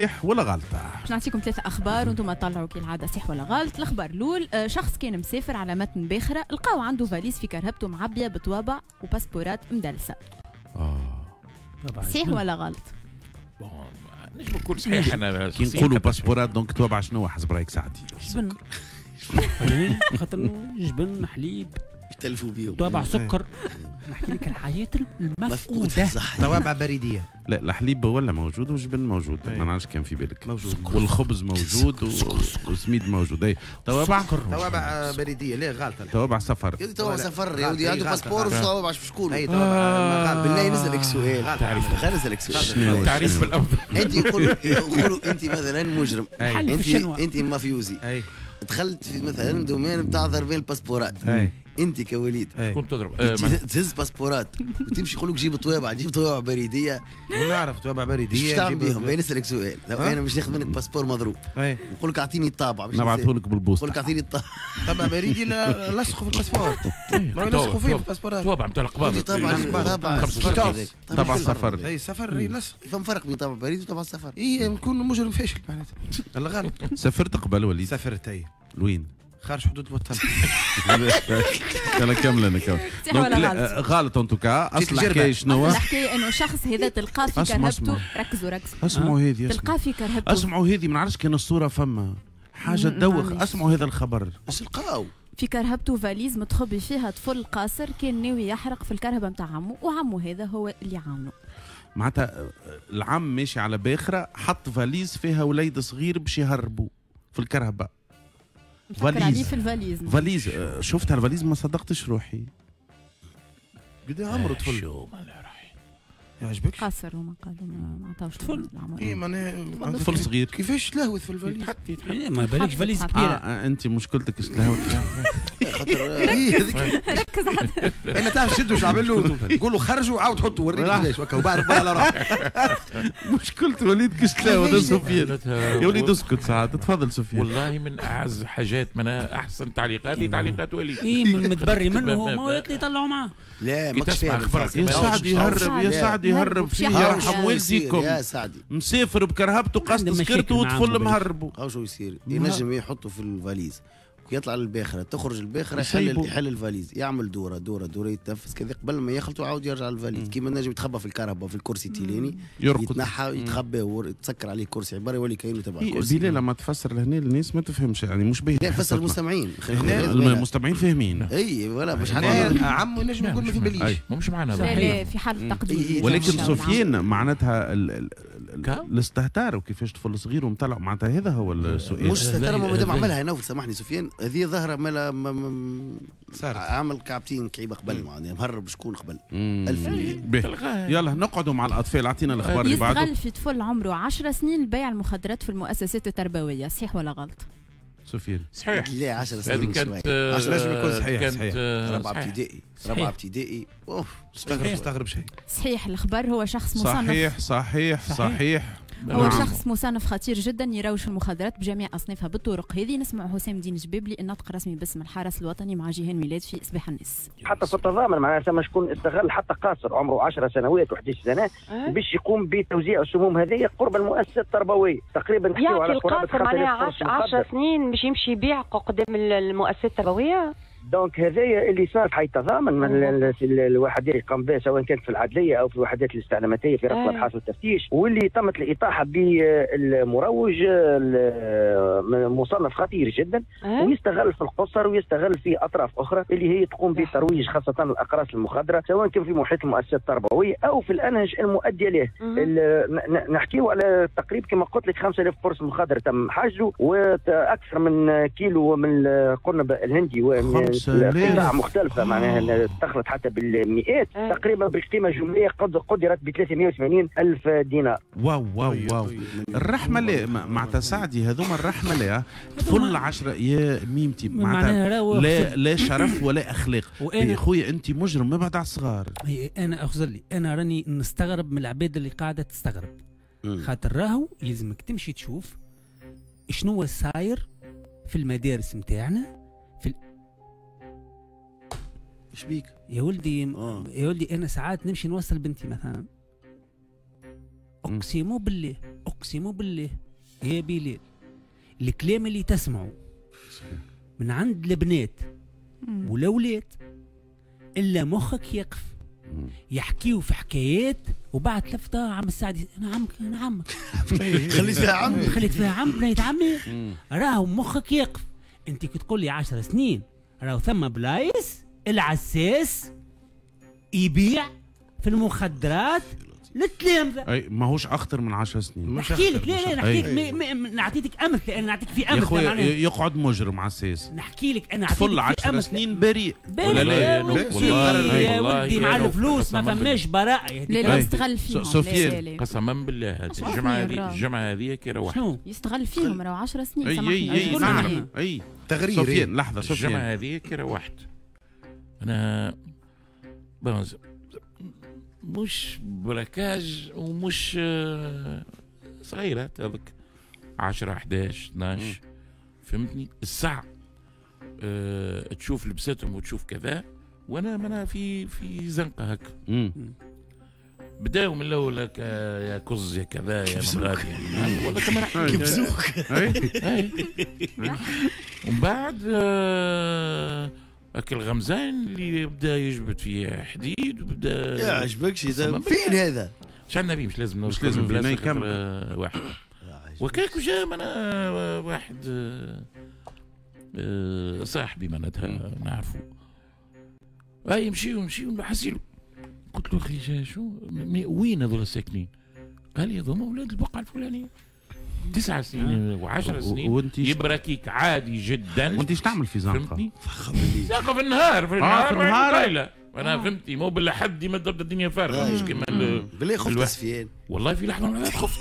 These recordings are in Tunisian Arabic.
صحيح ولا غلطة؟ باش نعطيكم ثلاثة أخبار وأنتم طلعوا كالعادة صحيح ولا غلط. الأخبار الأول، شخص كان مسافر على متن باخرة، لقاو عنده فاليز في كرهبته معبية بطوابع وباسبورات مدلسة. صحيح ولا غلط؟ نجم نقول صحيح. أنا كي نقولوا باسبورات donc طوابع شنو حسب رأيك سعدي؟ جبن. خاطر جبن حليب يتلفوا بيهم، طوابع سكر. نحكي لك الحياة المفقودة. طوابع بريدية. لا الحليب ولا موجود والجبن موجود، ما نعرفش كان في بالك موجود، والخبز موجود وسميد موجود. اي طوابع، طوابع بريدية. لا غلطة، طوابع سفر. طوابع سفر يا ودي، عنده passeport وطوابع شكون؟ اي طوابع. بالله نسألك سؤال، خلينا نسألك سؤال. تعريف بالأفضل. انت يقولوا انت مثلا مجرم، انت مافيوزي، دخلت في مثلا domaine بتاع ضربين الباسبورات، انت كوليد كنت تضرب تهز باسبورات وتمشي يقول لك جيب طوابع، جيب طوابع بريديه. نعرف طوابع بريديه ايش تعمل بيهم؟ باين نسالك سؤال، لو انا مش ناخذ منك passeport مضروب نقول لك اعطيني الطابع، نبعثه لك بالبوسطه، نقول لك اعطيني الطابع. طابع بريدي لصقوا في ال passeport، ما يلصقوا فيه في الباسبورات. طابع نتاع القباض، طابع طابع سفر. اي سفر يلصق. فما فرق بين طابع بريد وطابع سفر. اي نكون مجرم فاشل معناتها. الله غالب. سافرت قبل وليد؟ سافرت اي. لوين؟ خارج حدود الوطن. يلا كمل انا كمل. غلط en tout cas. اصل الحكاية شنو؟ الحكاية انه الشخص هذا تلقاه في كرهبته. ركزوا ركزوا. اسمعوا هذه، تلقاه في كرهبته. اسمعوا هذه، ما نعرفش كان الصورة فما حاجة تدوخ. اسمعوا هذا الخبر. اش لقاو؟ في كرهبته فاليز متخبي فيها طفل قاصر كان ناوي يحرق في الكرهبه نتاع عمه، وعمه هذا هو اللي عاونه. معناتها العم ماشي على باخره، حط فاليز فيها وليد صغير باش يهربوا في الكرهبه. فاليز في الفاليز. فاليز شفتها الفاليز ما صدقتش روحي. قد عمره طفل؟ شو ما يعجبك؟ قصر هما قالوا ما عطاوش طفل. اي معناها طفل صغير كيفاش تلهوث في الفاليز؟ ما بالكش فاليز كبيرة. انت مشكلتك تلهوث. ركز على انا تعرف شدوا شو عمل له؟ قول له خرجوا وعاود حطوا وريني كيفاش وكا وبعد على روحك. مشكلة وليد كيش تلهوث سفيان. يا وليد اسكت ساعات. تفضل سفيان. والله من اعز حاجات، من احسن تعليقاتي تعليقات وليد. اي متبري منه ما يطلعوا معاه. لا ماكش فاهم. يا سعد يهرب، يا سعد يهرب فيه يرحم والديكم. يا سعدي مسافر بكرهبته قاص تسكرته وطفل مهربه. هاو شو يصير؟ ينجم يحطه في الفاليز يطلع للباخره، تخرج الباخرة يحل الفاليز، يعمل دوره دوره دوره، يتنفس كذا قبل ما يخلطوا عاود يرجع الفاليز. كيما نجم يتخبى في الكهرباء في الكرسي التيلاني، يتنحى يتخبى وتسكر عليه الكرسي عبارة يولي كاينه تبع الكرسي. بلال لما تفسر لهنا الناس ما تفهمش، يعني مش باهي. لا فسر المستمعين، المستمعين فاهمين. اي ولا مش عمو ينجم يقول ما في باليش، مش معنا. لا في حال تقدير. ولكن سفيان معناتها الاستهتار وكيفاش طفل صغير ومطلع، معناتها هذا هو السؤال. مش استهتار ما دام عملها نوفل، سامحني سفيان، هذه ظاهرة مالا عامل كعبتين كعيبة قبل، معناها مهرب شكون قبل 1000. يلا نقعدوا مع الأطفال، أعطينا الأخبار اللي بعده. يستغل في طفل عمره 10 سنين لبيع المخدرات في المؤسسات التربوية، صحيح ولا غلط؟ سفيان. صحيح. لا 10 سنين كانت لازم يكون صحيح. صحيح. رابعة ابتدائي، رابعة ابتدائي. اوف استغرب شيء. صحيح الخبر. هو شخص مصنف. صحيح صحيح صحيح. هو شخص مصنف خطير جدا يروج في المخدرات بجميع اصنافها بالطرق هذه. نسمع حسام الدين جبابلي الناطق الرسمي باسم الحرس الوطني مع جيهان ميلاد في صباح الناس. حتى في التضامن معناها ثم شكون استغل حتى قاصر عمره 10 سنوات و11 سنة باش يقوم بتوزيع السموم هذه قرب المؤسسة التربوية تقريبا. نحكيو على قرابة 5000 معناها 10 سنين باش يمشي يبيع قدام المؤسسة التربوية. donc هذايا اللي صار في حي التضامن من الوحدات اللي قام بها سواء كانت في العدليه او في الوحدات الاستعلاماتيه في رفع الابحاث والتفتيش، واللي تمت الاطاحه بالمروج مصنف خطير جدا ويستغل في القصر ويستغل في اطراف اخرى اللي هي تقوم بترويج خاصة الاقراص المخدره سواء كان في محيط المؤسسات التربوية او في الانهج المؤدية له. نحكيو على تقريبا كما قلت لك 5000 قرص مخدر تم حجزه واكثر من كيلو من القرنب الهندي قطع مختلفة معناها دخلت حتى بالمئات تقريبا بالقيمة الجملية قدرت ب 380 ألف دينار. واو واو واو. الرحمة لا معناتها سعدي هذوما الرحمة لا طفل 10 يا ميمتي معناتها لا لا شرف ولا أخلاق. يا خويا أنت مجرم ما بعد على الصغار. أنا أخزر لي أنا راني نستغرب من العباد اللي قاعدة تستغرب، خاطر راهو يلزمك تمشي تشوف شنو صاير في المدارس نتاعنا في ايش بيك؟ يا ولدي يا ولدي انا ساعات نمشي نوصل بنتي مثلا اقسم بالله، اقسم بالله يا بلال، الكلام اللي تسمعه من عند البنات والاولاد الا مخك يقف. يحكيوا في حكايات وبعد لفتة عم السعدي انا عمك انا عمك خليت فيها عمي، خليت فيها عم بنيت عمي، راهو مخك يقف. انت كي تقول لي 10 سنين راهو ثم بلايص العساس يبيع في المخدرات للتلامذه. اي ماهوش اخطر من 10 سنين. نحكي لك لا لا نحكي لك، نعطيك امثلة، انا نعطيك في امثلة. يا خويا يقعد مجرم عساس. نحكي لك انا نعطيك طفل 10 سنين بريء ولا لا؟ والله يا ولدي مع الفلوس ما فماش براءه. لا لا يستغل فيهم سفيان قسما بالله. الجمعة هذه، الجمعة هذه كي روحت يستغل فيهم راهو 10 سنين. سامحني اي اي اي تغرير. سفيان لحظة، سفيان الجمعة هذه كي روحت انا مش braquage ومش صغيرة هذاك 10 11 12 فهمتني الساعة تشوف لبستهم وتشوف كذا، وانا منا في زنقة هكا. بداوا من الاول يا كز يا كذا يا مغادي والله كما راح كبزوك. ومن بعد اكل غمزان اللي بدا يجبد فيه حديد وبدا يا عجبكش فين هذا؟ مش عندنا بيه، مش لازم مش لازم بلاصة واحد وكاك جا انا واحد صاحبي معناتها نعرفه، اي يمشيو يمشيو حسيلو. قلت له اخي شو وين هذول ساكنين؟ قال لي هذوما اولاد البقعة الفلانية. 9 سنين و10 سنين يبركيك عادي جدا. وانت ايش تعمل في زنقه؟ زنقه في النهار، في النهار، في النهار. انا فهمتني مو بالحد ما تبدا الدنيا فارغة مش كيما بالله. خفت سفيان والله في لحظة خفت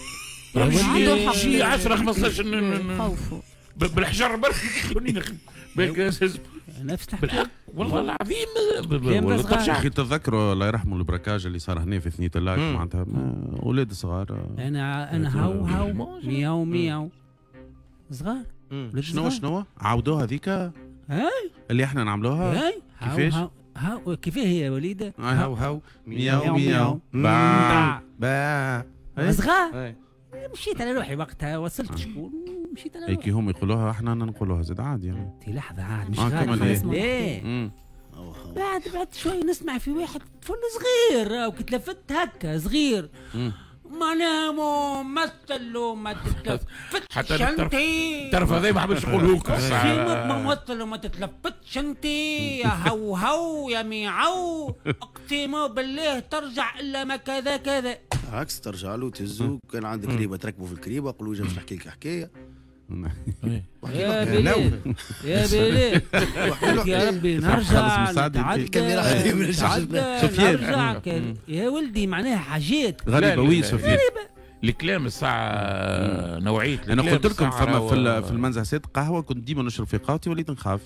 شي 10 15 بالحجر برك نفس بالحق والله العظيم. اخي تذكروا الله يرحمه ال braquage اللي صار هنا في ثنية اللاك معناتها اولاد صغار. انا هاو هاو مياو مياو صغار. شنو عاودوها هذيك اللي احنا نعملوها كيفاش؟ هاو كيفاه هي يا وليده؟ هاو هاو مياو مياو باع باع صغار. مشيت على روحي وقتها، وصلت شكون مشيت على روحي. كي هم يقولوها احنا نقولوها زاد عادي يعني. تي لحظة عاد مش غادي. ليه؟ بعد شوي نسمع في واحد طفل صغير وكي تلفت هكا صغير معناها ممثل وما تتلفتش انت. الطرف هذا ما حبش نقوله لك. ممثل وما تتلفتش انت يا هو هو يا ميعو، اقسم بالله ترجع الا ما كذا كذا. عكس ترجع له تهزو، كان عندك كريبه تركبه في الكريبه، قول له باش نحكي لك حكاية. يا بلال يا بلال يا ربي نرجع نرجع يا ولدي معناها حاجات غريبة. oui سفيان الكلام الساعة نوعية. انا قلت لكم فما في المنزه سيد قهوة كنت ديما نشرب في قهوتي وليت نخاف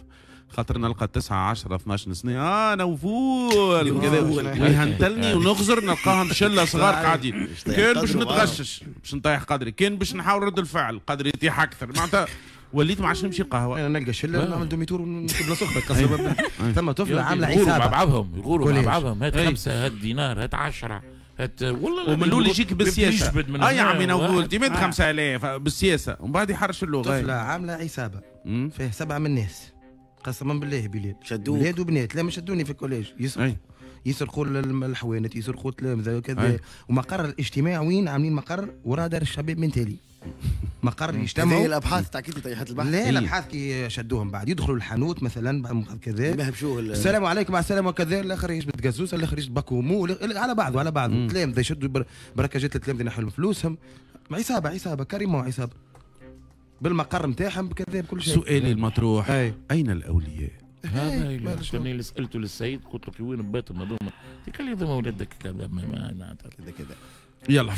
خاطر نلقى 9 10 12 سنة انا وفول كذا ويهنتلني ونغزر نلقاهم شله صغار قاعدين. كان باش نتغشش باش نطيح قدري، كان باش نحاول رد الفعل قدري يطيح اكثر معناتها وليت ما عادش نمشي القهوة. انا نلقى شله نعمل demi-tour ونمشي بلاصة اخرى. ثم طفله عامله عصابة مع بعضهم، يقولوا مع بعضهم هات 5 هات دينار هات 10 هات والله. ومن الاول يجيك بالسياسة يا عمي نقول تيمات 5000 بالسياسة ومن بعد يحرش اللغة. طفله عامله عصابة فيه 7 من الناس قسما بالله بلال، شدوك ولاد وبنات. لا ما شدوني في ال collège، يسرقوا الحوانت، يسرقوا التلامذه وكذا. ومقر الاجتماع وين عاملين مقر وراء دار الشباب من تالي مقر يجتمعوا. الابحاث تاع كي طيحت البحث؟ لا الابحاث كي شدوهم بعد يدخلوا الحانوت مثلا بعد كذا السلام عليكم مع السلامة وكذا، الاخر يجبد قزوزه، الاخر يجبد باكومو، على بعضه على بعضه. التلامذه يشدوا بركاجات التلامذه ينحوا فلوسهم. عصابة عصابة carrément عصابة بالمقر نتاعهم بكذا بكل شيء. سؤالي المطروح اين الاولياء؟ هذا اللي سالته للسيد قلت له وين باتهم هذوما؟ قال لي هذوما ولادك كذا كذا يلا.